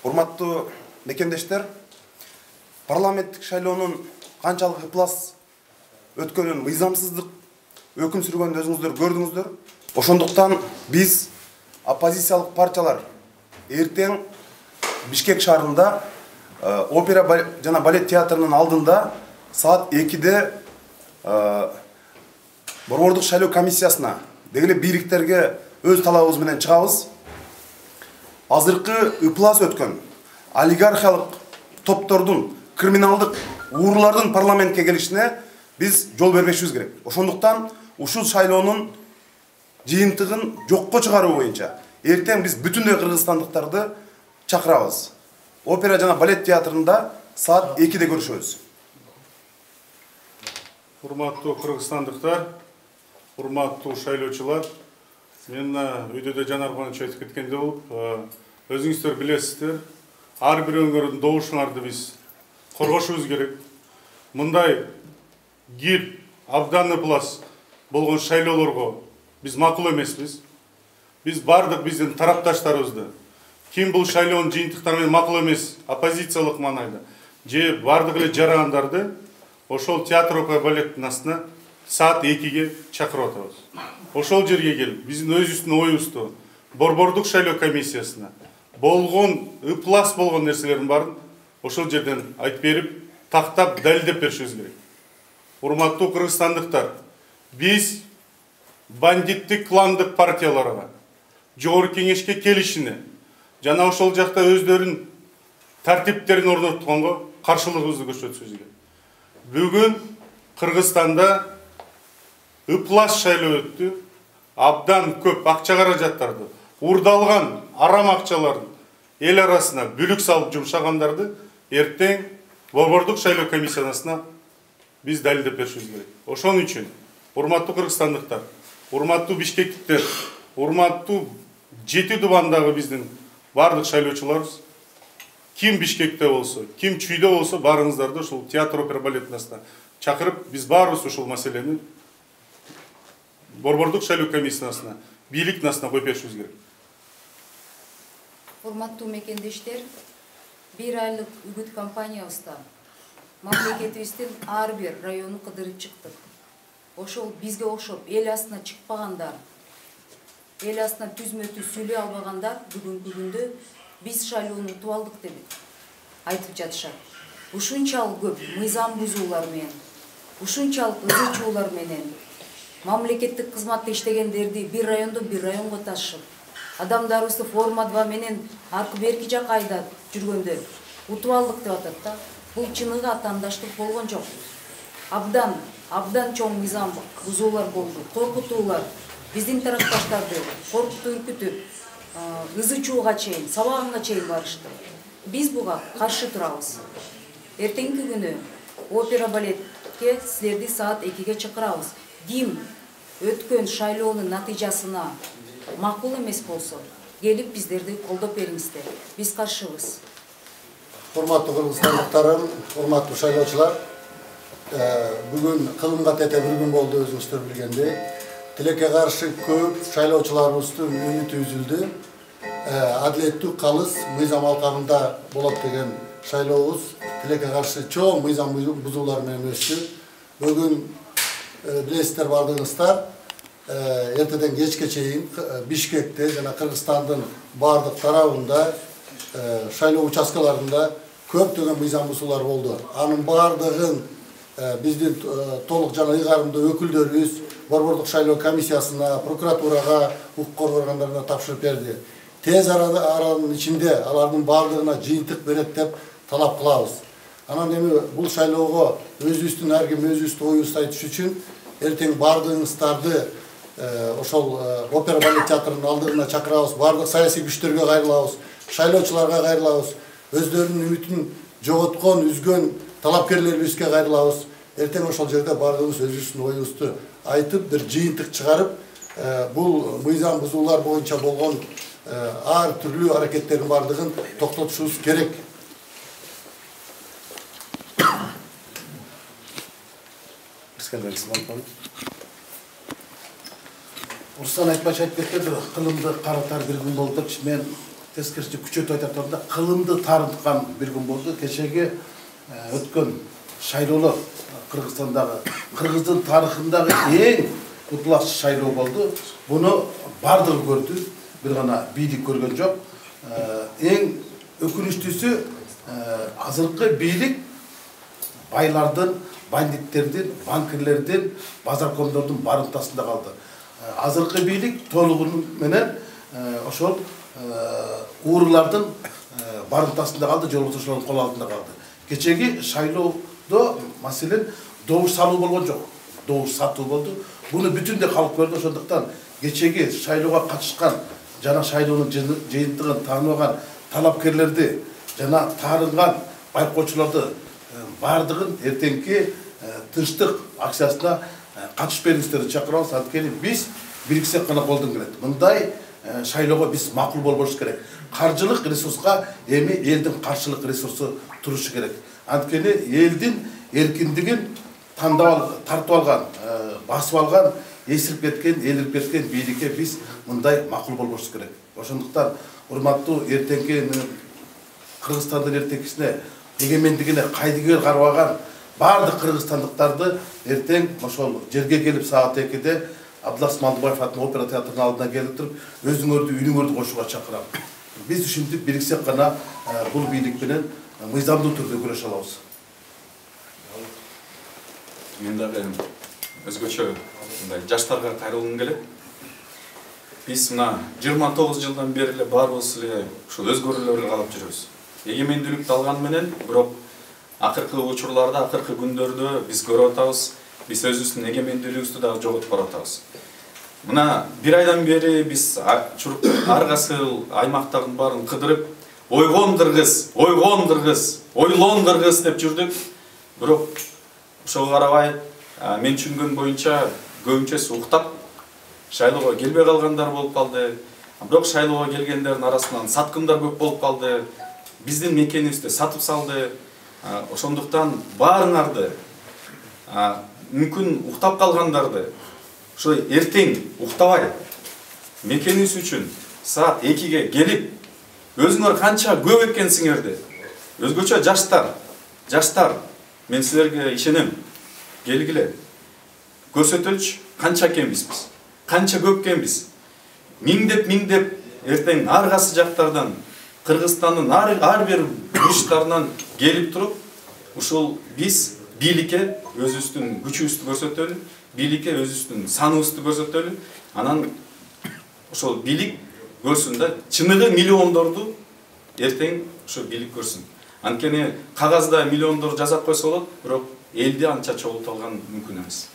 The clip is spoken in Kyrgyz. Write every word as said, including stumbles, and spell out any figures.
Урматтуу мекендештер, парламенттик шайлоонун канчалык ыплас өткөнүн, мыйзамсыздык өкүм сүргөнүн өзүңүздөр көрдүңүздөр. Ошондуктан биз оппозициялык партиялар эртең Бишкек шаарында опера жана балет театрынын алдында саат экиде борбордук шайлоо комиссиясына дегеле бийликтерге өз талабыбыз менен чыгабыз. Азыркы ыплас өткөн олигархиялык топтордун, криминалдык уурулардын парламентке келишине биз жол бербешибиз керек. Ошондуктан ушул шайлоонун жыйынтыгын жокко чыгаруу боюнча эртең биз бүтүндөй кыргызстандыктарды чакырабыз. Опера жана балет театрында саат экиде көрүшөбүз. Урматтуу кыргызстандыктар, урматтуу шайлоочулар, мен өйдөдө Жанар Кубанович айтып кеткендей болуп, өзүңүздөр билесиздер, ар бир өңүрдүн добушуңарды биз коргошубуз керек. Мындай кир, абдан ыплас болгон шайлоолорго биз макул эмеспиз. Биз бардык биздин тарапташтарыбызды, ким бул шайлоонун жыйынтыктары менен макул эмес, оппозициялык маанайда же бардык эле жарандарды ошол театр опера балеттин астына саат экиге чакырып атабыз. Ошол жерге келип, биздин өзүбүздүн оюбузду борбордук шайлоо комиссиясына болгон, ыплас болгон нерселердин баарын ошол жерден айтып берип, тактап, далилдеп беришибиз керек. Урматтуу кыргызстандыктар, биз бандиттик кландык партияларга, жогорку кеңешке келишине жана ошол жакта өздөрүнүн тартиптерин орнотконго каршылыгыбызды көрсөтүшүбүз керек. Бүгүн Кыргызстанда ыплас шайлоо өттү. Абдан көп акча каражаттарды, урдалган арам акчаларды эл арасына бүлүк салып жумшагандарды эртең борбордук шайлоо комиссиясына биз далилдеп беришибиз керек. Ошон үчүн урматтуу кыргызстандыктар, урматтуу бишкектиктер, урматтуу жети дубандагы биздин бардык шайлоочуларыбыз, ким Бишкекте болсо, ким Чүйдө болсо, баарыңыздарды ушул театр опера балеттин астына чакырып, биз баарыбыз ушул маселени борбордук шайлоо комиссиясына, бийликтин астына коюп беришибиз керек. Урматтуу мекендештер, бир айлык үгүт компаниябызда мамлекетибиздин ар бир районун кыдырып чыктык. Ошол бизге окшоп эл астына чыкпагандар, эл астына түзмө түз сүйлөй албагандар бүгүнкү күндө биз шайлоону утуп алдык деп айтып жатышат. Ушунчалык көп мыйзам бузуулар менен, ушунчалык ызы чуулар менен мамлекеттик кызматта иштегендерди бир райондон бир районго ташып, адамдарыбызды форма два менен аркы берки жакка айдап жүргөндөр утуп алдык деп атат да. Бул чыныгы атаандаштык болгон жок. Абдан, абдан чоң мыйзам бузуулар болду, коркутуулар, биздин тарапташтарды коркутуп үркүтүп, ызы чууга чейин, сабаганга чейин барышты. Биз буга каршы турабыз. Эртеңки күнү опера балетке силерди саат экиге чакырабыз. Ким өткөн шайлоонун натыйжасына макул эмес болсо, келип биздерди колдоп бериңиздер. Биз каршыбыз. Урматтуу кыргызстандыктарым, урматтуу шайлоочулар, бүгүн кылымга тете бир күн болду, өзүңүздөр билгендей. Тилекке каршы көп шайлоочуларыбыздын үмүтү үзүлдү. Адилеттүү, калыс мыйзам алкагында болот деген шайлообуз тилекке каршы чоң мыйзам бузуулар менен өттү. Бүгүн билесиздер бардыгыңыздар, эртеден кечке чейин Бишкекте жана Кыргызстандын бардык тарабында шайлоо участкаларында көптөгөн мыйзам бузуулар болду. Анын бардыгын биздин толук жана ыйгарымдуу өкүлдөрүбүз борбордук шайлоо комиссиясына, прокуратурага, укук коргоо органдарына тапшырып берди. Тез аранын ичинде алардын бардыгына жыйынтык берет деп талап кылабыз. Анан эми бул шайлоого өзүбүздүн ар ким өзүбүздүн оюбузду айтыш үчүн эртең бардыгыңыздарды ошол опера балет театрынын алдына чакырабыз, бардык саясий күчтөргө кайрылабыз, шайлоочуларга кайрылабыз, өздөрүнүн үмүтүн жоготкон, үзгөн талапкерлерибизге кайрылабыз. Эртең ошол жерде бардыгыбыз өзүбүздүн оюбузду айтып, бир жыйынтык чыгарып, бул мыйзам бузуулар боюнча болгон ар түрлүү аракеттердин бардыгын токтотушубуз керек. Урсан Айтбаев айтып кетти, кылымды каратар бир күн болду депчи. Мен тескерисинче күчөтүп айтаторунда кылымды тарыткан бир күн болду. Кечеги өткөн шайлоолор Кыргызстандагы, Кыргыздын тарыхындагы эң утлаш шайлоо болду. Буну бардыгы көрдү, бир гана бийлик көргөн жок. Эң өкүнүчтүүсү азыркы бийлик байлардын, бандиттердин, банкирлердин, базаркомдордун барымтасында калды. Азыркы бийлик толугу менен ошол уурулардын барымтасында калды, жолбошчулардын кол алдында калды. Кечеги шайлоодо маселен добуш салуу болгон жок, добуш сатуу болду. Буну бүтүндөй калк көрдү. Ошондуктан кечеги шайлоого катышкан жана шайлоонун жыйынтыгын тааныбаган талапкерлерди жана таарынган байкоочуларды бардыгын эртеңки тынчтык акциясына катышып бериңиздерди чакырабыз. Анткени биз бириксек гана колдон келет. Мындай шайлоого биз макул болбош керек. Каржылык ресурска эми элдин каршылык ресурсу турушу керек. Анткени элдин эркиндигин тандап тартып алган, басып алган, эсирип кеткен, элирип кеткен бийликке биз мындай макул болбош керек. Ошондуктан урматтуу эртеңки Кыргызстандын эртеңкисине, эгемендигине кайдыгер карабаган бардык кыргызстандыктарды эртең ошол жерге келип саат экиде Абдулас Малдыбаев атынын опера театрынын алдына келип туруп, өзүңөрдү үнүңөрдү кошууга чакырам. Биз ушинтип бириксек гана бул бийлик менен мыйзамдуу түрдө күрөшө алабыз. Мен дагы өзгөчө мындай жаштарга кайрылгым келет. Биз мына жыйырма тогуз жылдан бери эле баарыбыз эле ушул өзгөрүүлөргө калып жүрөбүз. Эгемендүүлүктү алган менен, бирок акыркы учурларда, акыркы күндөрдө биз көрүп атабыз, биз өзүбүздүн эгемендүүлүгүбүздү дагы жоготуп баратабыз. Мына бир айдан бери биз ар кайсы аймактардын баарын кыдырып, ойгон кыргыз, ойгон кыргыз, ойлон кыргыз деп жүрдүк. Бирок ошого карабай, мен түшүнгөн боюнча көбүнчөсү уктап шайлоого келбей калгандар болуп калды. Бирок шайлоого келгендердин арасынан саткындар көп болуп калды. Биздин мекенибизди сатып салды. Ошондуктан баарыңарды, мүмкүн уктап калгандарды, ошо эртең уктабай мекенибиз үчүн саат экиге келип, өзүңөр канча көп экенсиңерди, өзгөчө жаштар, жаштар, мен силерге ишенем, келгиле, көрсөтөлчү канча экенбиз биз, канча көп экенбиз. Миңдеп миңдеп эртең ар кайсы жактардан, Кыргызстандын ар бир бурчтарынан келип туруп, ушул биз бийликке өзүбүздүн күчүбүздү көрсөтөлү, бийликке өзүбүздүн саныбызды көрсөтөлү, анан ошол бийлик көрсүн да, чыныгы миллиондорду эртең ошо бийлик көрсүн. Анткени кагазда миллиондор жазап койсо болот, бирок элди анча чогултуп алган мүмкүн эмес.